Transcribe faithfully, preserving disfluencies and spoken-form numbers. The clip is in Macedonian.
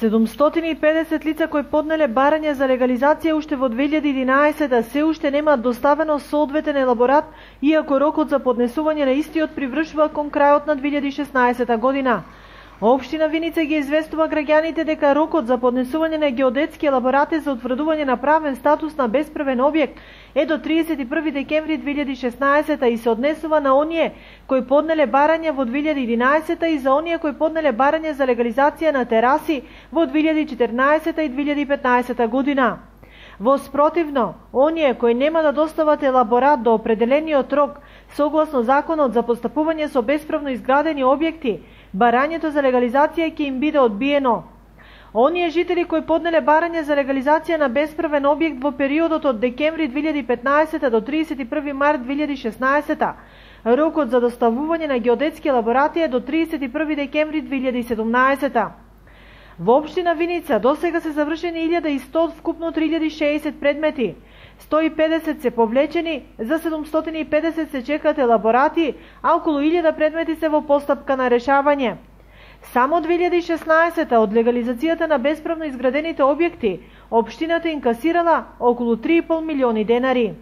седумстотини и педесет лица кои поднеле барање за легализација уште во две илјади и единаесетта се уште немаат доставено соодветен елаборат, иако рокот за поднесување на истиот привршува кон крајот на две илјади и шеснаесетта година. Општина Виница ги известува граѓаните дека рокот за поднесување на геодетски елаборати за утврдување на правен статус на бесправен објект е до триесет и први декември две илјади и шеснаесетта и се однесува на оние кои поднеле барање во две илјади и единаесетта и за оние кои поднеле барање за легализација на тераси во две илјади и четрнаесетта и две илјади и петнаесетта година. Во спротивно, оние кои нема да достават елаборат до определениот рок, согласно Законот за постапување со бесправно изградени објекти, барањето за легализација ќе им биде одбиено. Оние жители кои поднеле барање за легализација на бесправен објект во периодот од декември две илјади и петнаесетта до триесет и први март две илјади и шеснаесетта, рокот за доставување на геодетски елаборати е до триесет и први декември две илјади и седумнаесетта. Во општина Виница досега се завршени илјада и сто од вкупно три илјади и шеесет предмети. сто и педесет се повлечени, за седумстотини и педесет се чекаат елаборати, а околу илјада предмети се во постапка на решавање. Само две илјади и шеснаесетта од легализацијата на бесправно изградените објекти, општината инкасирала околу три и пол милиони денари.